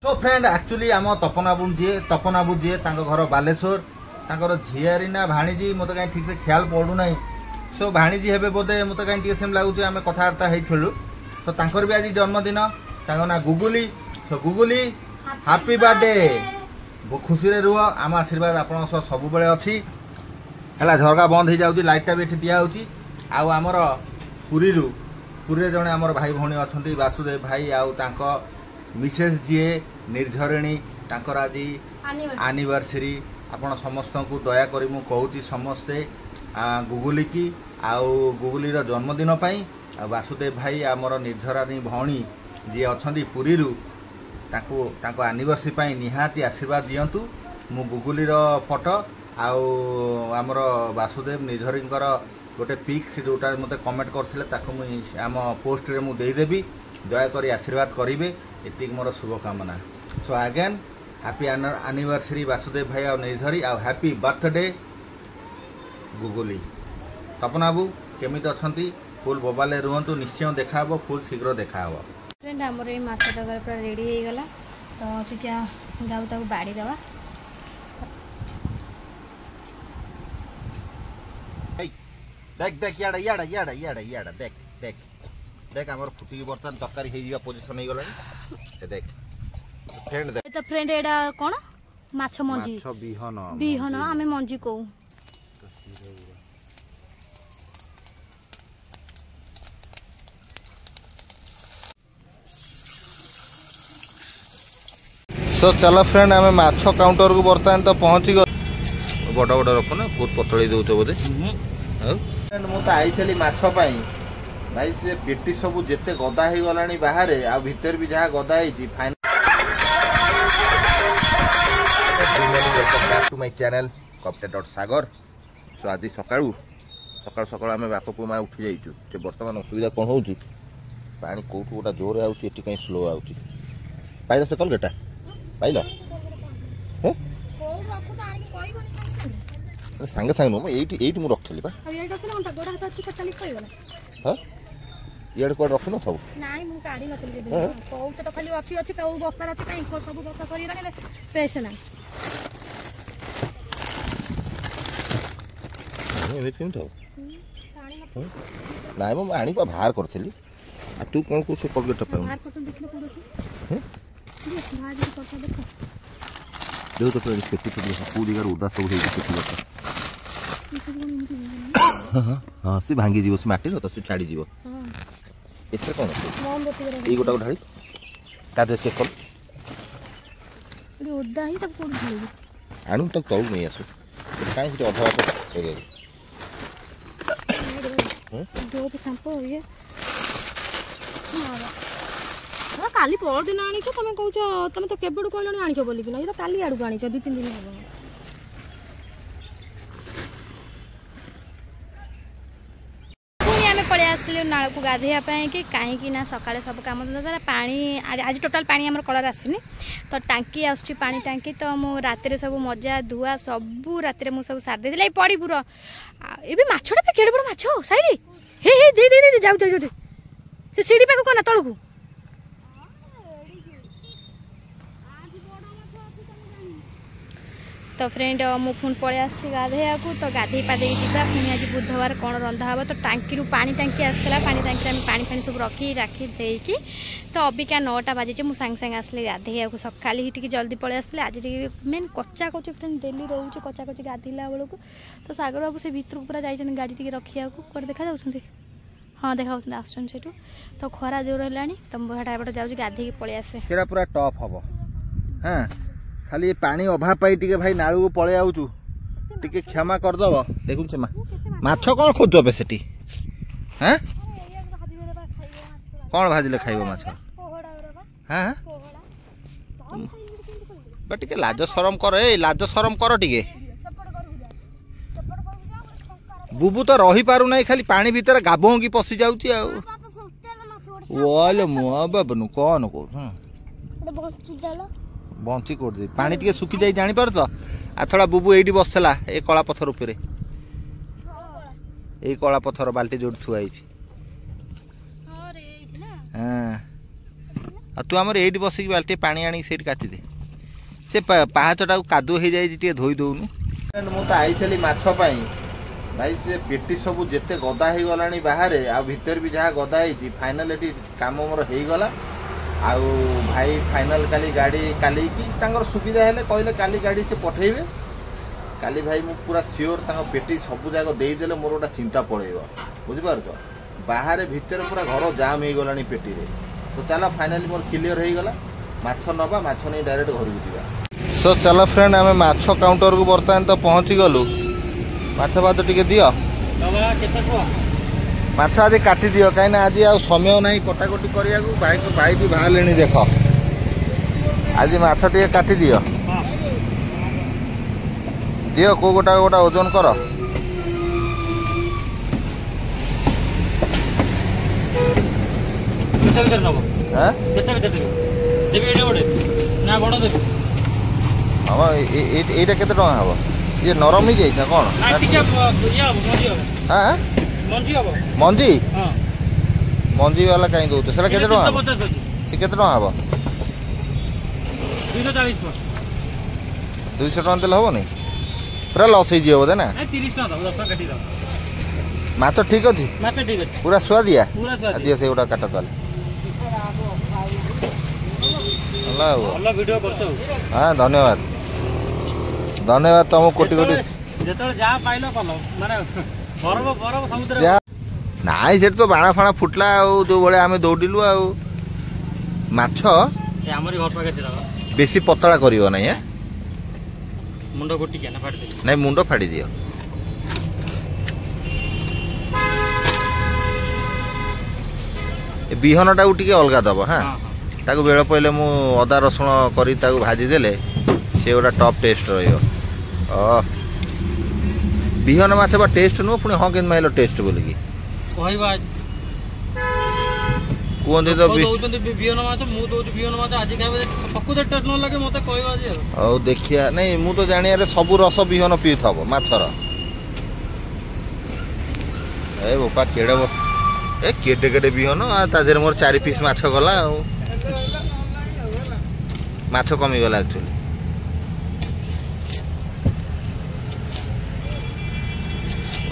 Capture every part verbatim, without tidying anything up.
Show friend actually ଆମ ତପନ ବାବୁ ଯିଏ ତପନ ବାବୁ ଯିଏ ତାଙ୍କ ଘର ବାଲେଶ୍ୱର ତାଙ୍କର ଝିଆରୀ ନା ଭାଣିଜୀ ମୋତେ କାହିଁ ଠିକ୍ସେ ଖିଆଲ ପଡ଼ୁନାହିଁ ସୋ ଭାଣିଜୀ ହେବେ ବୋଧେ ମୋତେ କାହିଁ ଟିକେ ସେମିତି ଲାଗୁଛି ଆମେ କଥାବାର୍ତ୍ତା ହେଇଥିଲୁ ତ ତାଙ୍କର ବି ଆଜି ଜନ୍ମଦିନ ତାଙ୍କ ନାଁ ଗୁଗୁଲି ସୋ ଗୁଗୁଲି ହାପି ବାର୍ଥଡେ ଖୁସିରେ ରୁହ ଆମ ଆଶୀର୍ବାଦ ଆପଣଙ୍କ ସହ ସବୁବେଳେ ଅଛି ହେଲା ଝରକା ବନ୍ଦ ହେଇଯାଉଛି ଲାଇଟ୍ଟା ବି ଏଠି ଦିଆହେଉଛି ଆଉ ଆମର ପୁରୀରୁ ପୁରୀରେ ଜଣେ ଆମର ଭାଇ ଭଉଣୀ ଅଛନ୍ତି ବାସୁଦେବ ଭାଇ ଆଉ ତାଙ୍କ ମିସେସ୍ ଯିଏ ନିର୍ଝରିଣୀ ତାଙ୍କର ଆଜି ଆନିଭର୍ସରୀ ଆପଣ ସମସ୍ତଙ୍କୁ ଦୟାକରି ମୁଁ କହୁଛି ସମସ୍ତେ ଗୁଗୁଲିକି ଆଉ ଗୁଗୁଲିର ଜନ୍ମଦିନ ପାଇଁ ଆଉ ବାସୁଦେବ ଭାଇ ଆମର ନିର୍ଝରାଣୀ ଭଉଣୀ ଯିଏ ଅଛନ୍ତି ପୁରୀରୁ ତାଙ୍କୁ ତାଙ୍କ ଆନିଭର୍ସରୀ ପାଇଁ ନିହାତି ଆଶୀର୍ବାଦ ଦିଅନ୍ତୁ ମୁଁ ଗୁଗୁଲିର ଫଟୋ ଆଉ ଆମର ବାସୁଦେବ ନିର୍ଝରୀଙ୍କର ଗୋଟେ ପିକ୍ ସେ ଯେଉଁଟା ମୋତେ କମେଣ୍ଟ କରିଥିଲେ ତାକୁ ମୁଁ ଆମ ପୋଷ୍ଟରେ ମୁଁ ଦେଇଦେବି ଦୟାକରି ଆଶୀର୍ବାଦ କରିବେ ଏତିକି ମୋର ଶୁଭକାମନା so again happy anniversary Basudev ଭାଇ ଆଉ ନିର୍ଝରୀ ଆଉ ହାପି ବାର୍ଥଡେ ଗୁଗୁଲି ତପନ ବାବୁ କେମିତି ଅଛନ୍ତି ଫୁଲ୍ ବୋବାଲେ ରୁହନ୍ତୁ ନିଶ୍ଚୟ ଦେଖାହେବ ଫୁଲ୍ ଶୀଘ୍ର ଦେଖାହେବ ଫ୍ରେଣ୍ଡ ଆମର ଏଇ ମାଛ ତରକାରୀ ପୁରା ରେଡ଼ି ହେଇଗଲା ତ ଟିକେ ଯାଉ ତାକୁ ବାଡ଼ି ଦେବା ଦେଖ ଦେଖ ଇଆଡ଼େ ଇଆଡ଼େ ଇଆଡ଼େ ଇଆଡ଼େ ଇଆଡ଼େ ଦେଖ ଦେଖ ଦେଖ ଆମର ଫୁଟିକି ବର୍ତ୍ତମାନ ତରକାରୀ ହେଇଯିବା ପୋଜିସନ୍ ହେଇଗଲାଣି ଏ ଦେଖ ଫ୍ରେଣ୍ଡ ଦେଖ ତ ଫ୍ରେଣ୍ଡ ଏଇଟା କ'ଣ ମାଛ ମଞ୍ଜି ମାଛ ବିହନ ବିହନ ଆମେ ମଞ୍ଜି କହୁ ସୋ ଚାଲ ଫ୍ରେଣ୍ଡ ଆମେ ମାଛ କାଉଣ୍ଟରକୁ ବର୍ତ୍ତମାନ ତ ପହଞ୍ଚି ବଡ଼ ବଡ଼ ରଖୁନ ବହୁତ ପତଳେଇ ଦେଉଛ ବୋଧେ ଆଉ ମୁଁ ତ ଆଇଥିଲି ମାଛ ପାଇଁ ଭାଇ ସେ ପେଟି ସବୁ ଯେତେ ଗଦା ହେଇଗଲାଣି ବାହାରେ ଆଉ ଭିତରେ ବି ଯାହା ଗଦା ହେଇଛି Welcome back to my channel କପ୍ଟେ dot Sagar show ଆଜି ସକାଳୁ ସକାଳୁ ସକାଳୁ ଆମେ ବାପ ପୁଅ ମା ଉଠି ଯାଇଛୁ ଯେ ବର୍ତ୍ତମାନ ଅସୁବିଧା କ'ଣ ହେଉଛି ପାଣି କେଉଁଠୁ ଗୋଟା ଜୋରରେ ଆଉଛି ଏଠି କାହିଁ ସ୍ଲୋ ଆଉଛି ପାଇଲ ସେ କଲଗେଟା ପାଇଲ ହେ ସାଙ୍ଗେ ସାଙ୍ଗେ ନୁହଁ ଏଇଠି ଏଇଠି ମୁଁ ରଖିଥିଲି ବା ହଁ ଇଆଡ଼େ କୁଆଡ଼େ ରଖିନଥାଉ ନାଇଁ ମୁଁ କାଢି ନଥିଲି କହୁଛ ତ ଖାଲି ଅଛି ଅଛି କୋଉ ବସ୍ତାରେ ଅଛି କାହିଁ ସବୁ ବସ୍ତା ସରିଗଲାଣି ପେଷ୍ଟ ନାହିଁ ଏମିତି କେମିତି ହବ ନାଇଁ ମୁଁ ଆଣି ବା ବାହାର କରିଥିଲି ଆଉ ତୁ କ'ଣ କହୁଛୁ କଲଗେଟଟା ପାଉନୁ ଦେଖ ତ ପେଟି ଫେଟି କେଉଁ ଜାଗାରେ ଓଦା ସବୁ ହେଇଛି ପେଟି କଥା ହଁ ସେ ଭାଙ୍ଗିଯିବ ସେ ମାଟିର ତ ସେ ଛାଡ଼ିଯିବ ଏଥିରେ କ'ଣ ଅଛି ଏଇ ଗୋଟାକୁ ଢାଳି ତା ଦେହରେ ଚେକ୍ କଲ ଓଦା ହିଁ ତାକୁ କୋଉଠି ଢାଳିବି ଆଣୁ ତାକୁ ତଳକୁ ନେଇ ଆସୁ କାହିଁ ସେଠି ଅଧା ବାଟ ହେଇଯାଇଛି ଡୋପ ସାମ୍ପୁ ଇଏ କାଲି ପରଦିନ ଆଣିଛ ତମେ କହୁଛ ତମେ ତ କେବେଠୁ କହିଲଣି ଆଣିଛ ବୋଲିକିନା ଇଏ ତ କାଲି ଆଡ଼କୁ ଆଣିଛ ଦୁଇ ତିନି ଦିନ ହବ ପୁଣି ଆମେ ପଳେଇ ଆସିଲୁ ନାଳକୁ ଗାଧୋଇବା ପାଇଁ କି କାହିଁକି ନା ସକାଳେ ସବୁ କାମ ଧନ୍ଦା ସାରା ପାଣି ଆଜି ଟୋଟାଲ୍ ପାଣି ଆମର କଳରେ ଆସିନି ତ ଟାଙ୍କି ଆସୁଛି ପାଣି ଟାଙ୍କି ତ ମୁଁ ରାତିରେ ସବୁ ମଜା ଧୁଆ ସବୁ ରାତିରେ ମୁଁ ସବୁ ସାରି ଦେଇଥିଲି ଏଇ ପଡ଼ିପୁର ଏବେ ମାଛଟା ବି କେଡ଼େ ବଡ଼ ମାଛ ସାଇଲି ହେ ହେ ଦେ ଦେ ଦେ ଯାଉ ଯାଉ ଯାଉ ସେ ସିଡ଼ି ପାଖକୁ କନା ତଳକୁ ତ ଫ୍ରେଣ୍ଡ ମୁଁ ପୁଣି ପଳେଇ ଆସିଛି ଗାଧୋଇବାକୁ ତ ଗାଧୋଇ ପାଧେଇକି ଯିବା ପୁଣି ଆଜି ବୁଧବାର କ'ଣ ରନ୍ଧା ହେବ ତ ଟାଙ୍କିରୁ ପାଣି ଟାଙ୍କି ଆସିଥିଲା ପାଣି ଟାଙ୍କିରେ ଆମେ ପାଣି ଫାଣି ସବୁ ରଖି ରାଖି ଦେଇକି ତ ଅବିକା ନଅଟା ବାଜିଛି ମୁଁ ସାଙ୍ଗେ ସାଙ୍ଗେ ଆସିଲି ଗାଧୋଇବାକୁ ସକାଳେ ହିଁ ଟିକେ ଜଲ୍ଦି ପଳେଇ ଆସିଲି ଆଜି ଟିକେ ମେନ୍ କଚା କଚି ଫ୍ରେଣ୍ଡ ଡେଲି ରହୁଛି କଚା କଚି ଗାଧୋଇଲା ବେଳକୁ ତ ସାଗର ବାବୁ ସେ ଭିତରକୁ ପୁରା ଯାଇଛନ୍ତି ଗାଡ଼ି ଟିକେ ରଖିବାକୁ କୁଆଡ଼େ ଦେଖାଯାଉଛନ୍ତି ହଁ ଦେଖାଯାଉଛନ୍ତି ଆସୁଛନ୍ତି ସେଇଠୁ ତ ଖରା ଜୋର ହେଲାଣି ତ ମୁଁ ସେଟା ଏପଟେ ଯାଉଛି ଗାଧୋଇକି ପଳେଇ ଆସେ ସେଟା ପୁରା ଟପ୍ ହବ ହଁ ଖାଲି ପାଣି ଅଭାବ ପାଇଁ ଟିକେ ଭାଇ ନାଳକୁ ପଳେଇ ଆଉଛୁ ଟିକେ କ୍ଷମା କରିଦବ ଦେଖୁন ସେ ମାଛ କ'ଣ ଖୋଜୁଛ ଏବେ ସେଠି ହଁ କ'ଣ ଭାଜିଲେ ଖାଇବ ମାଛ ହଁ ବା ଟିକେ ଲାଜ ସରମ କର ଏଇ ଲାଜ ସରମ କର ଟିକେ ବୁବୁ ତ ରହିପାରୁନାହିଁ ଖାଲି ପାଣି ଭିତରେ ଗାଭଉଁକି ପଶି ଯାଉଛି ଆଉ ଓଲେ ମୁଁ ବାବୁନୁ କ'ଣ କହୁଛୁ ବଞ୍ଚି କୋଉଠି ପାଣି ଟିକେ ଶୁଖି ଯାଇ ଜାଣିପାରୁଛ ଆଥଳା ବୁବୁ ଏଇଠି ବସିଥିଲା ଏ କଳା ପଥର ଉପରେ ଏଇ କଳା ପଥର ବାଲ୍ଟି ଯୋଉଠି ଥୁଆ ହେଇଛି ହଁ ଆଉ ତୁ ଆମର ଏଇଠି ବସିକି ବାଲ୍ଟିଏ ପାଣି ଆଣିକି ସେଇଠି କାଚିଦେ। ସେ ପାହାଚଟାକୁ କାଦୁଅ ହେଇଯାଇଛି, ଟିକେ ଧୋଇ ଦଉନୁ। ମୁଁ ତ ଆଇଥିଲି ମାଛ ପାଇଁ ଭାଇ, ସେ ପେଟି ସବୁ ଯେତେ ଗଦା ହେଇଗଲାଣି ବାହାରେ ଆଉ ଭିତରେ ବି ଯାହା ଗଦା ହେଇଛି, ଫାଇନାଲ୍ ଏଠି କାମ ମୋର ହେଇଗଲା। ଆଉ ଭାଇ ଫାଇନାଲ୍ କାଲି ଗାଡ଼ି କାଲିକି ତାଙ୍କର ସୁବିଧା ହେଲେ କହିଲେ କାଲି ଗାଡ଼ି ସେ ପଠେଇବେ। କାଲି ଭାଇ ମୁଁ ପୁରା ସିଓର ତାଙ୍କ ପେଟି ସବୁ ଯାକ ଦେଇଦେଲେ ମୋର ଗୋଟେ ଚିନ୍ତା ପଳେଇବ, ବୁଝିପାରୁଛ? ବାହାରେ ଭିତରେ ପୁରା ଘର ଜାମ୍ ହେଇଗଲାଣି ପେଟିରେ। ତ ଚାଲ ଫାଇନାଲି ମୋର କ୍ଲିଅର ହେଇଗଲା, ମାଛ ନେବା, ମାଛ ନେଇ ଡାଇରେକ୍ଟ ଘରକୁ ଯିବା। ସୋ ଚାଲ ଫ୍ରେଣ୍ଡ, ଆମେ ମାଛ କାଉଣ୍ଟରକୁ ବର୍ତ୍ତମାନ ତ ପହଞ୍ଚିଗଲୁ। ମାଛ ଭାତ ଟିକେ ଦିଅ, ମାଛ ଆଜି କାଟିଦିଅ, କାହିଁକିନା ଆଜି ଆଉ ସମୟ ନାହିଁ କଟାକଟି କରିବାକୁ। ଭାଇ ଭାଇ ବି ବାହାରିଲେଣି ଦେଖ, ଆଜି ମାଛ ଟିକେ କାଟିଦିଅ। ଦିଅ କେଉଁ ଗୋଟା ଗୋଟା ଓଜନ କର। ଏଇଟା କେତେ ଟଙ୍କା ହବ? ଇଏ ନରମ ହେଇଯାଇଛି ନା କ'ଣ? ମଞ୍ଜି ମଞ୍ଜି ବାଲା କାହିଁ ଦଉଛ? ସେଟା କେତେ ଟଙ୍କା ହବ? ସେ କେତେ ଟଙ୍କା ହବ? ଦୁଇଶହ ଟଙ୍କା ଦେଲେ ହବନି? ପୁରା ଲସ୍ ହେଇଯିବ ବୋଧେ ନା? ମାଛ ଠିକ ଅଛି, ପୁରା ସୁଆଦିଆ। ଦିଅ ସେଇଗୁଟା କାଟ ତାହେଲେ। ହେଲା ଆଉ ହଁ, ଧନ୍ୟବାଦ ଧନ୍ୟବାଦ ତମକୁ କୋଟି କୋଟି। ନାଇଁ ସେଠି ତ ବାଣ ଫାଣ ଫୁଟିଲା ଆଉ ଯୋଉ ଭଳିଆ ଆମେ ଦୌଡ଼ିଲୁ। ଆଉ ମାଛ ବେଶୀ ପତଳା କରିବ ନାଇଁ, ନାଇଁ ମୁଣ୍ଡ ଫାଡ଼ି ଦିଅ। ବିହନଟାକୁ ଟିକେ ଅଲଗା ଦବ। ହଁ, ତାକୁ ବେଳ ପଡ଼ିଲେ ମୁଁ ଅଦା ରସୁଣ କରି ତାକୁ ଭାଜି ଦେଲେ ସେ ଗୋଟେ ଟପ୍ ଟେଷ୍ଟ ରହିବ। ଅ ବିହନ ମାଛ ବା ଟେଷ୍ଟ ନୁହଁ ପୁଣି, ହଁ କେମିତି ମାଇଲ ଟେଷ୍ଟ ବୋଲିକି କହିବା କୁହନ୍ତି ତ ବିହନ ମାଛ। ମୁଁ ଦଉଛି ବିହନ ମାଛ ଆଜି ଖାଇବେ, ପ୍ରକୃତ ଟେଷ୍ଟ ନ ଲାଗେ ମତେ କହିବା ଆଜି। ହଉ ଦେଖିବା। ନାଇଁ ମୁଁ ତ ଜାଣିବାରେ ସବୁ ରସ ବିହନ ପିଉଥିବ ମାଛର। ଏ ବୋପା କେଡ଼େ, ଏ କେଡ଼େ କେଡ଼େ ବିହନ, ତା ଦେହରେ ମୋର ଚାରି ପିସ୍ ମାଛ ଗଲା। ଆଉ ମାଛ କମିଗଲା ଆକ୍ଚୁଆଲି।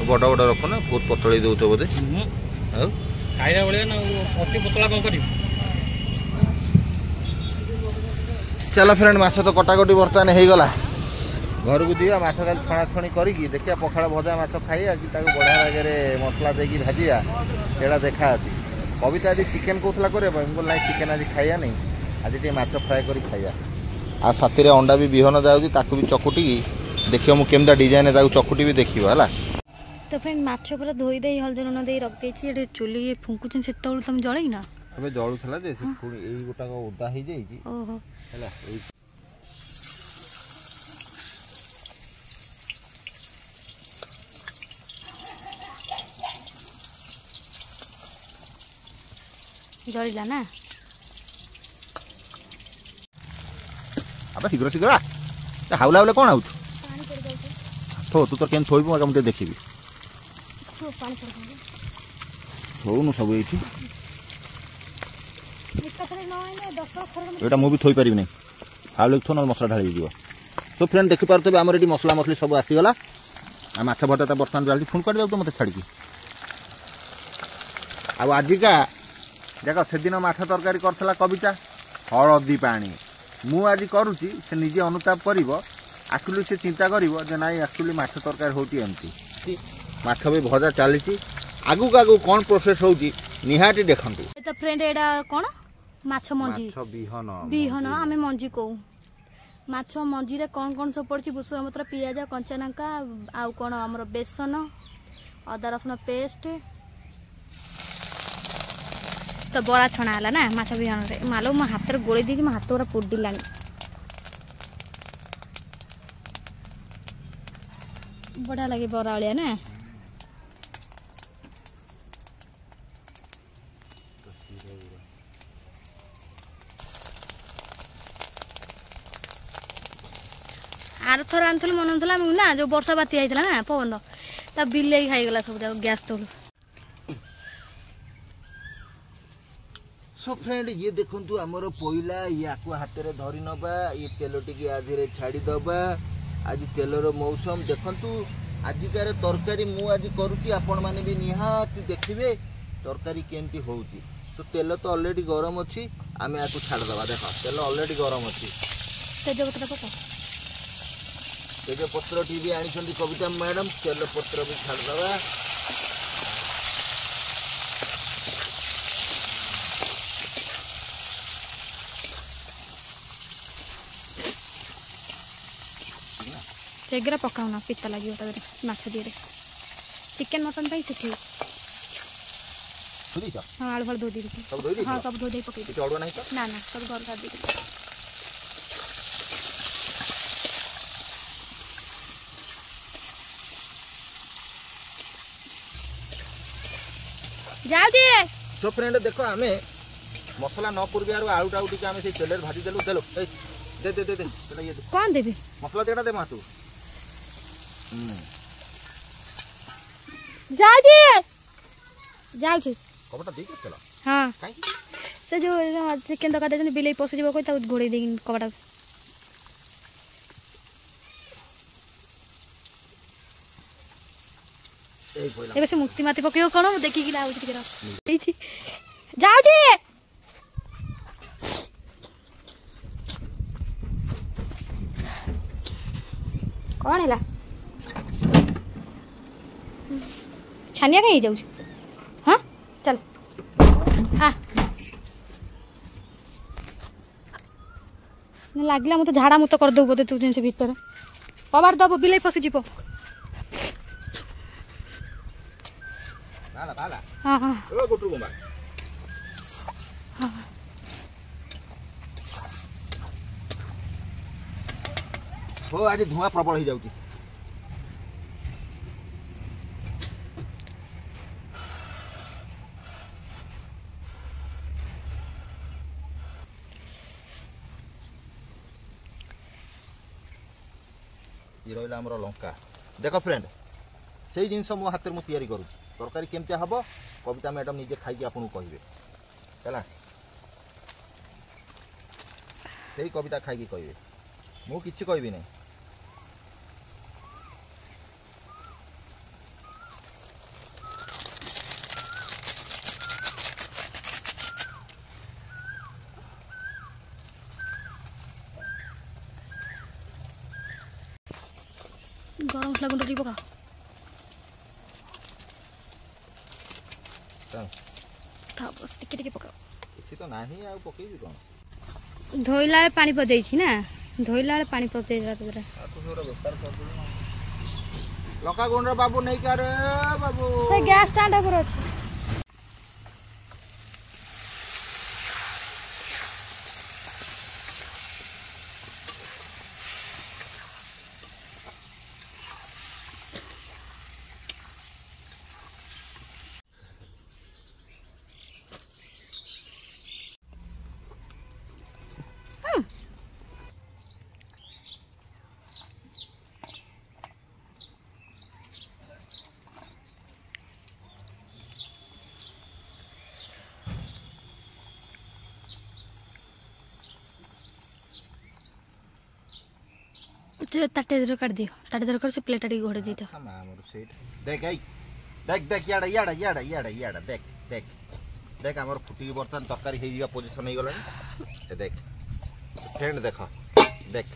ବଡ଼ ବଡ଼ ରଖୁନା, ବହୁତ ପତଳେଇ ଦଉଛ ବୋଧେ। ଆଉ ଖାଇଲା ଭଳିଆ ନା, ଅତି ପତଳା କ'ଣ କରିବି? ଚାଲ ଫ୍ରେଣ୍ଡ, ମାଛ ତ କଟାକଟି ବର୍ତ୍ତମାନ ହେଇଗଲା, ଘରକୁ ଯିବା। ମାଛ କାଲି ଛଣାଛଣି କରିକି ଦେଖିବା, ପଖାଳ ଭଜା ମାଛ ଖାଇବା କି ତାକୁ ବଢ଼ିଆ ବାଗରେ ମସଲା ଦେଇକି ଭାଜିବା, ସେଇଟା ଦେଖା ଅଛି। କବିତା ଆଜି ଚିକେନ୍ କହୁଥିଲା କରିବା ପାଇଁ, ମୁଁ କହିଲି ନାଇଁ ଚିକେନ୍ ଆଜି ଖାଇବା ନାହିଁ, ଆଜି ଟିକେ ମାଛ ଫ୍ରାଏ କରି ଖାଇବା। ଆଉ ସାଥିରେ ଅଣ୍ଡା ବି ବିହନ ଯାଉଛି, ତାକୁ ବି ଚକୁଟିକି ଦେଖିବ ମୁଁ କେମିତିଆ ଡିଜାଇନ୍ ତାକୁ ଚକୁଟିବି ଦେଖିବ ହେଲା। ତ ଫ୍ରେଣ୍ଡ, ମାଛ ପୁରା ଧୋଇ ଦେଇ ହଳଦୀ ଲୁଣ ଦେଇ ରଖିଦେଇଛି। ଏଠି ଚୁଲି ଫୁଙ୍କୁଛନ୍ତି, ସେତେବେଳୁ ତମେ ଜଳେଇନ? ଏବେ ଜଳୁଥିଲା ଯେ ସେ ପୁଣି ଏଇ ଗୋଟାକ ଓଦା ହେଇଯାଇଛି। ଓହୋ ହେଲା। ଏଇ ଜଳିଲା ନା? ଆବେ ଶୀଘ୍ର ଶୀଘ୍ର ହାଉଲା ହାଉଲେ କ'ଣ ଆଉଛୁ? ଥୋ, ତୁ ତ କେମିତି ଥୋଇବୁ ମୁଁ ଟିକେ ଦେଖିବି। ଥୋଉନୁ ସବୁ ଏଇଠି। ଏଇଟା ମୁଁ ବି ଥୋଇପାରିବି ନାହିଁ, ହାଉଲେ ଥୋ, ନହେଲେ ମସଲା ଢାଳି ହେଇଯିବ। ତ ଫ୍ରେଣ୍ଡ ଦେଖିପାରୁଥିବେ ଆମର ଏଠି ମସଲା ମସଲି ସବୁ ଆସିଗଲା। ଆଉ ମାଛ ଭଜା ତ ବର୍ତ୍ତମାନ ଚାଲିଛି। ଫୋନ୍ କୁଆଡ଼େ ଯାଉଛ ମୋତେ ଛାଡ଼ିକି? ଆଉ ଆଜିକା ଦେଖ, ସେଦିନ ମାଛ ତରକାରୀ କରିଥିଲା କବିତା ହଳଦୀ ପାଣି, ମୁଁ ଆଜି କରୁଛି। ସେ ନିଜେ ଅନୁତାପ କରିବ ଆକ୍ଚୁଆଲି, ସେ ଚିନ୍ତା କରିବ ଯେ ନାଇଁ ଆକ୍ଚୁଆଲି ମାଛ ତରକାରୀ ହେଉଛି ଏମିତି। ମାଛ ବି ଭଜା ଚାଲିଛି, ଆଗକୁ ଆଗକୁ କ'ଣ ପ୍ରୋସେସ୍ ହେଉଛି ନିହାତି ଦେଖନ୍ତୁ। ତ ଫ୍ରେଣ୍ଡ, ଏଇଟା କ'ଣ? ମାଛ ମଞ୍ଜି, ମାଛ ବିହନ। ବିହନ ଆମେ ମଞ୍ଜି କହୁ। ମାଛ ମଞ୍ଜିରେ କ'ଣ କ'ଣ ସବୁ ପଡ଼ିଛି? ଭୃଷଙ୍ଗ ପତ୍ର, ପିଆଜ, କଞ୍ଚା ଲଙ୍କା, ଆଉ କ'ଣ ଆମର ବେସନ, ଅଦା ରସୁଣ ପେଷ୍ଟ। ତ ବରା ଛଣା ହେଲା ନା ମାଛ ବିହନରେ? ମାଲୋ, ମୋ ହାତରେ ଗୋଳେଇ ଦେଇଛି, ମୋ ହାତ ପୁରା ପୋଡ଼ିଲାଣି। ବଢ଼ିଆ ଲାଗେ ବରା ଭଳିଆ ନା? ଆରଥର ଆଣିଥିଲୁ ମନେ ନଥିଲା ନା, ଯୋଉ ବର୍ଷା ବାତ୍ୟା ହେଇଥିଲା ନା ପବନ, ତା ବିଲେଇ ଖାଇଗଲା ସବୁ ଯାକ ଗ୍ୟାସ୍ ତଳୁ। ସୋ ଫ୍ରେଣ୍ଡ, ଇଏ ଦେଖନ୍ତୁ ଆମର ପୋଇଲା। ୟାକୁ ହାତରେ ଧରି ନେବା, ଇଏ ତେଲ ଟିକେ ଆଧିରେ ଛାଡ଼ିଦେବା। ଆଜି ତେଲର ମୌସମ। ଦେଖନ୍ତୁ ଆଜିକାର ତରକାରୀ ମୁଁ ଆଜି କରୁଛି, ଆପଣମାନେ ବି ନିହାତି ଦେଖିବେ ତରକାରୀ କେମିତି ହେଉଛି। ତ ତେଲ ତ ଅଲରେଡ଼ି ଗରମ ଅଛି, ଆମେ ୟାକୁ ଛାଡ଼ିଦେବା। ଦେଖ, ତେଲ ଅଲରେଡ଼ି ଗରମ ଅଛି। ତେଜପତ୍ର ପକା। ତେଜପତ୍ରଟି ବି ଆଣିଛନ୍ତି କବିତା ମ୍ୟାଡ଼ାମ। ତେଲପତ୍ର ବି ଛାଡ଼ିଦେବା। ସେଗୁଡ଼ା ପକାଉନା, ପିତା ଲାଗିବ ତା ଦେହରେ। ମାଛ ଦିହରେ ଚିକେନ୍ ମଟନ୍ ପାଇଁ ସେ ଠିକ୍। ଧୋଇ ଦେଇଛ? ହଁ, ଆଳୁ ଫାଳୁ ଧୋଇ ଦେଇଛି। ସବୁ ଧୋଇ ଦେଇଛ? ହଁ, ସବୁ ଧୋଇ ଦେଇ ପକେଇ। କିଛି ଅଡ଼ୁଆ ନାହିଁ ତ? ନା ନା, ସବୁ ଘରୁ ସାରି ଦେଇଛି। ଯାଉଛି। ସୋ ଫ୍ରେଣ୍ଡ, ଦେଖ, ଆମେ ମସଲା ନ ପୂର୍ବରୁ ଆଳୁଟାକୁ ଟିକେ ଆମେ ସେଇ ତେଲରେ ଭାଜି ଦେଲୁ। ଦେଲୁ, ଏଇ ଦେ ଦେ ଦେ ଦେ, ସେଟା ଇଏ ଦେ। କ'ଣ ଦେବି? ମସଲା ଦେଟା ଦେ ମାସୁ। ହୁଁ। ଯାଉଛି, ଯାଉଛି। କବଟା ଦେଇକି ତେଲ? ହଁ। କାହିଁକି? ସେ ଯୋଉ ଚିକେନ୍ ତରକାରୀ ଦେଇଛନ୍ତି, ବିଲେଇ ପଶିଯିବ କହି ତାକୁ ଘୋଡ଼େଇ ଦେଇକି କବାଟ। ଏଇ ପଇଲା। ଏବେ ସେ ମୁତି ମାତି ପକେଇବ କ'ଣ, ମୁଁ ଦେଖିକି ଲାଗୁଛି। ଟିକେ ରହ। ହେଇଛି, ଯାଉଛି। କ'ଣ ହେଲା? ଛାନିଆ କାହିଁ ହେଇଯାଉଛି? ହଁ, ଚାଲ ଆ। ଲାଗିଲା ମୋତେ ଝାଡ଼ା ମୁତ କରିଦେବୁ ବୋଧେ ତୁ ଜିନିଷ ଭିତରେ। କବାଟ ଦବୁ, ବିଲେଇ ପଶିଯିବ। ବାଲା ବାଲା। ହଁ ହଁ। ଏ ଗୋଟୁ ଗୁମ୍ବା। ହଁ। ହଉ, ଆଜି ଧୂଆଁ ପ୍ରବଳ ହେଇଯାଉଛି। ଇଏ ରହିଲା ଆମର ଲଙ୍କା। ଦେଖ ଫ୍ରେଣ୍ଡ, ସେଇ ଜିନିଷ ମୋ ହାତରେ ମୁଁ ତିଆରି କରୁଛି। ତରକାରୀ କେମିତି ହବ କବିତା ମ୍ୟାଡ଼ାମ ନିଜେ ଖାଇକି ଆପଣଙ୍କୁ କହିବେ। ହେଲା, ସେଇ କବିତା ଖାଇକି କହିବେ, ମୁଁ କିଛି କହିବି ନାହିଁ। ଗରମ ମସଲା ଗୁଣ୍ଡ ଟିକେ ପକାଅ। କାଇଁ? ଥାଉ, ବସ୍, ଟିକେ ଟିକେ ପକାଅ। କିଛି ତ ନାହିଁ, ଆଉ ପକେଇବି କ'ଣ? ଧୋଇଲା ବେଳେ ପାଣି ପଶିଯାଇଛି ନା, ଧୋଇଲା ବେଳେ ପାଣି ପଶିଯାଇଥିଲା ତା ଦେହରେ। ଆଉ ତୁ ସେଗୁଡ଼ା ବେପାର କରିଦେଲୁ ନା। ଲଙ୍କା ଗୁଣ୍ଡ ବାବୁ ନେଇକି, ଆରେ ବାବୁ। ସେ ଗ୍ୟାସ୍ ଷ୍ଟାଣ୍ଡ ଉପରେ ଅଛି। ସେ ତାଟିଆ ଦେହରେ କାଢ଼ିଦିଅ, ତାଟିଆ ଦେହରେ କରି ସେ ପ୍ଲେଟ୍ଟା ଟିକେ ଘୋଡ଼େଇ ଦେଇଦିଅ। ମା, ଆମର ସେଇଟା ଦେଖ, ଏଇ ଦେଖ ଦେଖ, ଇଆଡ଼େ ଇଆଡ଼େ ଇଆଡ଼େ ଇଆଡ଼େ ଇଆଡ଼େ ଦେଖ ଦେଖ ଦେଖ। ଆମର ଫୁଟିକି ବର୍ତ୍ତମାନ ତରକାରୀ ହେଇଯିବା ପୋଜିସନ୍ ହେଇଗଲାଣି। ଏ ଦେଖ ଫ୍ରେଣ୍ଡ, ଦେଖ ଦେଖ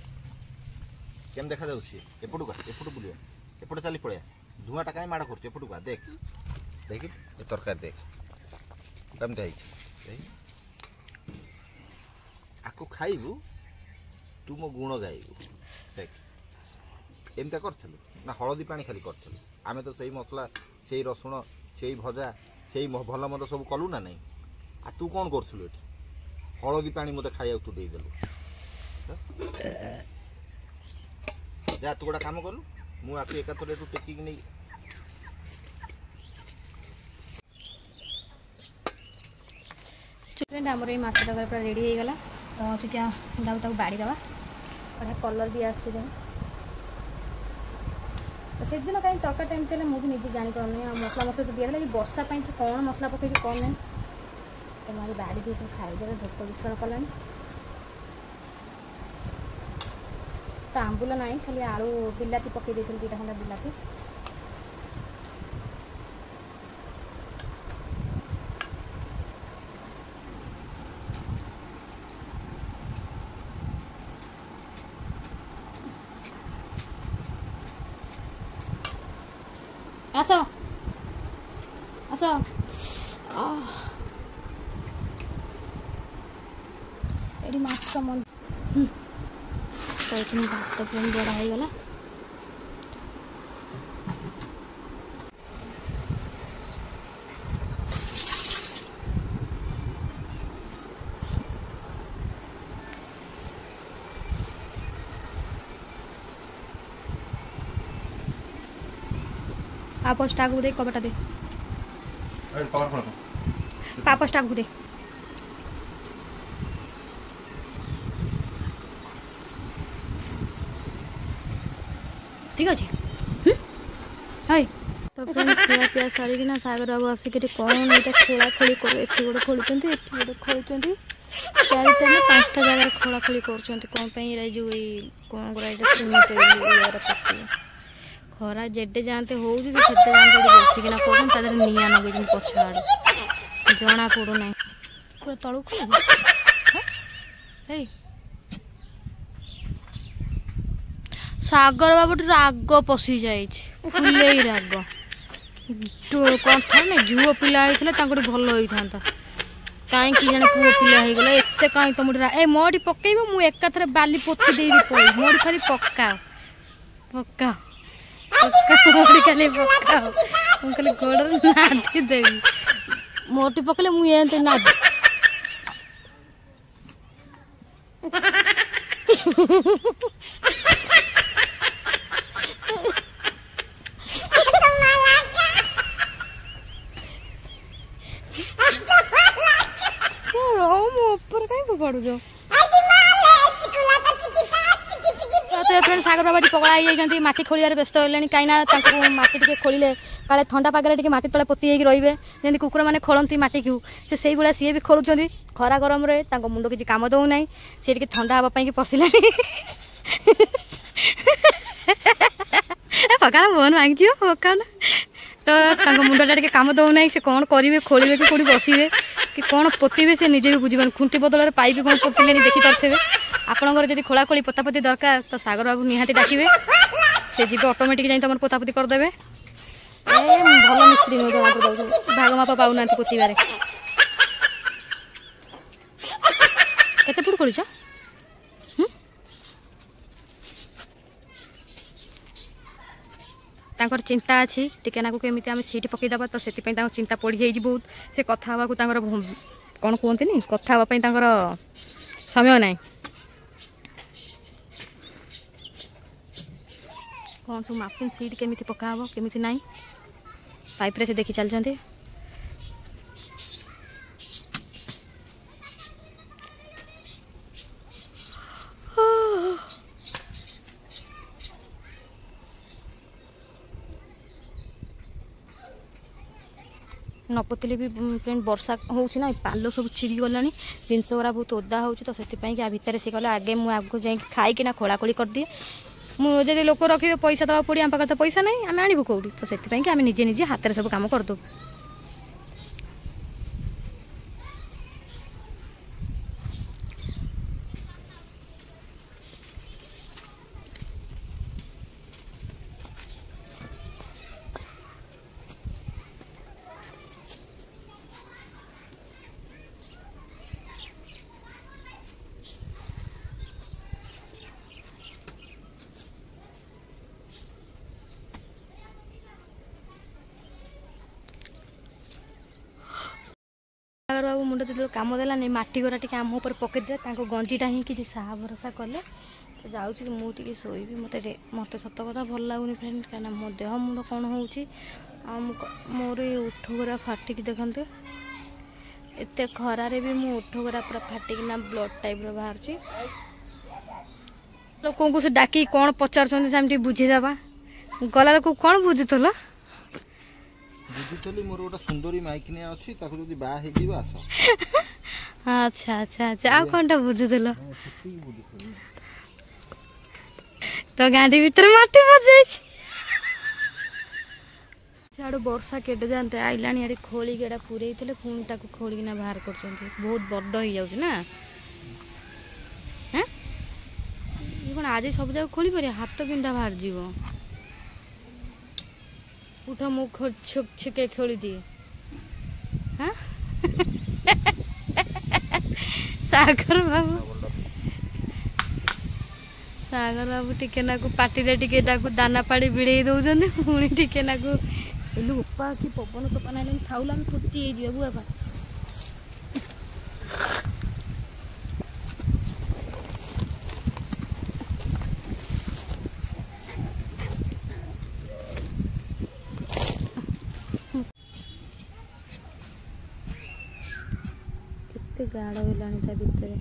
କେମିତି ଦେଖାଯାଉଛି। ଏପଟକୁ ଆ, ଏପଟୁ ବୁଲିବା, ଏପଟେ ଚାଲି ପଳେଇବା। ଧୂଆଁଟା କାହିଁ ମାଡ଼ କରୁଛୁ? ଏପଟକୁ ଆ, ଦେଖ ଦେଖି, ଏ ତରକାରୀ ଦେଖ କେମିତି ହେଇଛି। ଦେଖ, ଆକୁ ଖାଇବୁ ତୁ ମୋ ଗୁଣ ଗାଇବୁ। ଦେଖ, ଏମିତିଆ କରିଥିଲୁ ନା ହଳଦୀ ପାଣି ଖାଲି କରିଥିଲୁ? ଆମେ ତ ସେଇ ମସଲା, ସେଇ ରସୁଣ, ସେଇ ଭଜା, ସେଇ ଭଲ ମନ୍ଦ ସବୁ କଲୁ ନା ନାହିଁ? ଆଉ ତୁ କ'ଣ କରୁଥିଲୁ ଏଠି? ହଳଦୀ ପାଣି ମୋତେ ଖାଇବାକୁ ତୁ ଦେଇଦେଲୁ। ଯା, ତୁ ଗୋଟେ କାମ କଲୁ, ମୁଁ ଆକୁ ଏକାଥରେ ଏଠୁ ଟେକିକି ନେଇ ଫ୍ରେଣ୍ଡ, ଆମର ଏଇ ମାଛ ତରକାରୀ ପୁରା ରେଡ଼ି ହେଇଗଲା। ତ ଟିକେ ଯାଉ ତାକୁ ବାଡ଼ି ଦେବା। ବଢ଼ିଆ କଲର୍ ବି ଆସିଛି ଦେଖ। ତ ସେଦିନ କାହିଁ ତରକାରୀଟା ଏମିତି ହେଲା, ମୁଁ ବି ନିଜେ ଜାଣିପାରୁନି। ଆଉ ମସଲା ମସଲା ତ ଦିଆହେଲା କି ବର୍ଷା ପାଇଁ କି କ'ଣ ମସଲା ପକେଇଛି କ'ଣ ନାହିଁ। ତ ମୁଁ ଆଜି ବାଡ଼ି ଦେଇ ସବୁ ଖାଇଦେବେ, ଭୋକ ବିଷଳ କଲାଣି। ତ ଆମ୍ବୁଲ ନାହିଁ, ଖାଲି ଆଳୁ ବିଲାତି ପକେଇ ଦେଇଥିଲି, ଦୁଇଟା ଖଣ୍ଡେ ବିଲାତି। ଆସ ଆସ, ଏଠି ମାଛ ମଞ୍ଜି। ତ ଏଠି ଭାତ ପୁଣି ବଢ଼ା ହେଇଗଲା। ପାପୋସଟା ଆଗକୁ ଦେଇ କବାଟା ଦେ, ପାପୋସଟା ଆଗକୁ ଦେ। ଠିକ ଅଛି। ହଇ, ତ ପୁଣି ଖିଆ ପିଆ ସାରିକିନା ସାଗର ବାବୁ ଆସିକି ଏଠି କ'ଣ ଏଇଟା ଖୋଳା ଖୋଳି କରୁ। ଏଠି ଗୋଟେ ଖୋଳୁଛନ୍ତି, ଏଠି ଗୋଟେ ଖୋଳୁଛନ୍ତି, ଚାରିଟା ନା ପାଞ୍ଚଟା ଜାଗାରେ ଖୋଳା ଖୋଳି କରୁଛନ୍ତି। କ'ଣ ପାଇଁ ଏଇଟା ଯେଉଁ ଏଇ କ'ଣ ଗୁଡ଼ା ଏଇଟା ସିମେଣ୍ଟ ଇଏର ପକେଇବେ। ଖରା ଯେଡ଼େ ଯାଆନ୍ତେ ହେଉଛି, ସେ ସେତେ ଯାଆନ୍ତେ ଏଠି ବସିକିନା କରୁଛନ୍ତି। ତା ଦେହରେ ନିଆଁ ଲଗେଇଛନ୍ତି ପଛ ଆଡ଼େ, ଜଣା ପଡ଼ୁନାହିଁ। ପୁରା ତଳକୁ ଖୋଳିବ ହେଇ। ସାଗର ବାବୁଠି ରାଗ ପଶି ଯାଇଛି, ଫୁଲେଇ ରାଗ। କ'ଣ ଥାଏ ନା, ଝିଅ ପିଲା ହେଇଥିଲେ ତାଙ୍କଠି ଭଲ ହେଇଥାନ୍ତା, କାହିଁକି ଜଣେ ପୁଅ ପିଲା ହେଇଗଲା ଏତେ କାହିଁ ତମଠି? ଏ ମୋଠି ପକେଇବ, ମୁଁ ଏକାଥରେ ବାଲି ପୋତି ଦେଇକି ପଳେଇବି। ମୋଠି ଖାଲି ପକାଅ ପକାଅ ପକାଅ, ମୋଠି ଖାଲି ପକାଅ, ମୁଁ ଖାଲି ଗୋଡ଼ରେ ନାଦି ଦେବି। ମୋଠି ପକେଇଲେ ମୁଁ ଏମିତି ନାଦି ମୋ ଉପରେ କାହିଁ ଫୋପାଡୁଛ? ସାଗର ବାବା ପଗଳା ହେଇଯାଇଛନ୍ତି, ମାଟି ଖୋଳିବାରେ ବ୍ୟସ୍ତ ହେଲେଣି। କାହିଁକିନା ତାଙ୍କୁ ମାଟି ଟିକେ ଖୋଳିଲେ କାଳେ ଥଣ୍ଡା ପାଗରେ ଟିକେ ମାଟି ତଳେ ପୋତି ହେଇକି ରହିବେ। ଯେମିତି କୁକୁରମାନେ ଖୋଳନ୍ତି ମାଟିକୁ, ସେ ସେଇଭଳିଆ ସିଏ ବି ଖୋଳୁଛନ୍ତି। ଖରା ଗରମରେ ତାଙ୍କ ମୁଣ୍ଡ କିଛି କାମ ଦେଉନାହିଁ, ସେ ଟିକେ ଥଣ୍ଡା ହେବା ପାଇଁକି ପଶିଲାଣି। ପକାନା, ଫୋନ୍ ଭାଙ୍ଗିଯିବ, ପକାନା। ତ ତାଙ୍କ ମୁଣ୍ଡଟା ଟିକେ କାମ ଦେଉନାହିଁ, ସେ କ'ଣ କରିବେ, ଖୋଳିବେ କି କେଉଁଠି ବସିବେ କି କ'ଣ ପୋତିବେ ସେ ନିଜେ ବି ବୁଝିପାରୁନି। ଖୁଣ୍ଟି ବଦଳରେ ପାଇପ୍ କ'ଣ ପୋତିଲେଣି ଦେଖିପାରୁଥିବେ। ଆପଣଙ୍କର ଯଦି ଖୋଳାଖୋଳି ପୋତାପୋତି ଦରକାର ତ ସାଗର ବାବୁ ନିହାତି ଡାକିବେ, ସେ ଯିବେ ଅଟୋମେଟିକ୍ ଯାଇ ତମର ପୋତାପୋତି କରିଦେବେ। ଏ ଭଲ ମିସ୍ତ୍ରୀ ନୁହେଁ, ଜଣାପଡ଼ୁଛି ଭାଗ ମାପ ପାଉନାହାନ୍ତି ପୋତିବାରେ। କେତେ ଫୁଟ ଖୋଳିଛ? ତାଙ୍କର ଚିନ୍ତା ଅଛି ଟିକେ ନାକୁ କେମିତି ଆମେ ସିଟ୍ ପକାଇଦେବା, ତ ସେଥିପାଇଁ ତାଙ୍କ ଚିନ୍ତା ପଡ଼ିଯାଇଛି ବହୁତ। ସେ କଥା ହେବାକୁ ତାଙ୍କର କ'ଣ କୁହନ୍ତିନି, କଥା ହେବା ପାଇଁ ତାଙ୍କର ସମୟ ନାହିଁ। କ'ଣ ସବୁ ମାପିଂ, ସିଟ୍ କେମିତି ପକା ହେବ କେମିତି ନାହିଁ, ପାଇପ୍ରେ ସେ ଦେଖି ଚାଲିଛନ୍ତି। ନ ପୋତିଲେ ବି ଫ୍ରେଣ୍ଡ ବର୍ଷା ହେଉଛି ନା, ପାଲ ସବୁ ଛିଡ଼ିଗଲାଣି, ଜିନିଷ ଗୁଡ଼ା ବହୁତ ଓଦା ହେଉଛି। ତ ସେଥିପାଇଁ କି ଆ ଭିତରେ ସେ କହିଲେ ଆଗେ ମୁଁ ଆଗକୁ ଯାଇକି ଖାଇକିନା ଖୋଳାଖୋଳି କରିଦିଏ। ମୁଁ ଯଦି ଲୋକ ରଖିବେ ପଇସା ଦେବାକୁ ପଡ଼ିବ, ଆମ ପାଖରେ ତ ପଇସା ନାହିଁ, ଆମେ ଆଣିବୁ କେଉଁଠି? ତ ସେଥିପାଇଁ କି ଆମେ ନିଜେ ନିଜେ ହାତରେ ସବୁ କାମ କରିଦେବୁ। ସାଗର ବାବୁ ମୁଣ୍ଡ ଯେତେବେଳେ କାମ ଦେଲାନି, ମାଟି ଗୁଡ଼ା ଟିକେ ଆମ ଉପରେ ପକେଇଦେଲା, ତାଙ୍କ ଗଞ୍ଜିଟା ହିଁ କିଛି ସାହା ଭରସା କଲେ। ତ ଯାଉଛି ମୁଁ ଟିକେ ଶୋଇବି। ମୋତେ ମୋତେ ସତ କଥା ଭଲ ଲାଗୁନି ଫ୍ରେଣ୍ଡ, କାହିଁକିନା ମୋ ଦେହ ମୁଣ୍ଡ କ'ଣ ହେଉଛି ଆଉ ମୁଁ ମୋର ଏଇ ଓଠ ଗୁଡ଼ା ଫାଟିକି ଦେଖନ୍ତୁ। ଏତେ ଖରାରେ ବି ମୁଁ ଓଠ ଗୁଡ଼ା ପୁରା ଫାଟିକିନା ବ୍ଲଡ଼ ଟାଇପ୍ର ବାହାରୁଛି। ଲୋକଙ୍କୁ ସେ ଡାକିକି କ'ଣ ପଚାରୁଛନ୍ତି ସେ ଆମେ ଟିକେ ବୁଝିଦେବା। ଗଲା ଲୋକ କ'ଣ ବୁଝୁଥିଲ? ବୁଝୁଥିଲି ମୋର ଗୋଟେ ସୁନ୍ଦରୀ ମାଇକିନିଆ ଅଛି ତାକୁ ଯଦି ବାହା ହେଇଯିବ ଆସ ଆଚ୍ଛା ଆଚ୍ଛା ଆଚ୍ଛା ଆଉ କ'ଣଟା ବୁଝୁଥିଲ ସେତିକି ବୁଝୁଥିଲି ତ ଗାଣ୍ଡି ଭିତରେ ମାଟି ପଶିଯାଇଛି ସିଆଡ଼ୁ ବର୍ଷା କେଡ଼େ ଯାଆନ୍ତେ ଆଇଲାଣି ଆଡ଼େ ଖୋଳିକି ଏଇଟା ପୁରେଇଥିଲେ ପୁଣି ତାକୁ ଖୋଳିକିନା ବାହାର କରୁଛନ୍ତି ବହୁତ ବଡ଼ ହେଇଯାଉଛି ନା ହେଁ ଇଏ କ'ଣ ଆଜି ସବୁ ଯାକ ଖୋଳି ପାରିବ ହାତ ବିନ୍ଧା ବାହାରିଯିବ ଉଠ ମୁଁ ଛିକେ ଖୋଳିଦିଏ ହଁ ସାଗର ବାବୁ ସାଗର ବାବୁ ଟିକେ ନାକୁ ପାଟିରେ ଟିକେ ତାକୁ ଦାନା ପାଣି ଭିଡ଼େଇ ଦଉଛନ୍ତି ପୁଣି ଟିକେ ନାକୁ ଏଲୁ ବୋପା କି ପବନ ତୋଫାନ ହେଲାଣି ଥାଉଲା ଆମେ ପୋତି ହେଇଯିବା ବୁଆପା କେତେ ଗାଡ଼ ହେଲାଣି ତା ଭିତରେ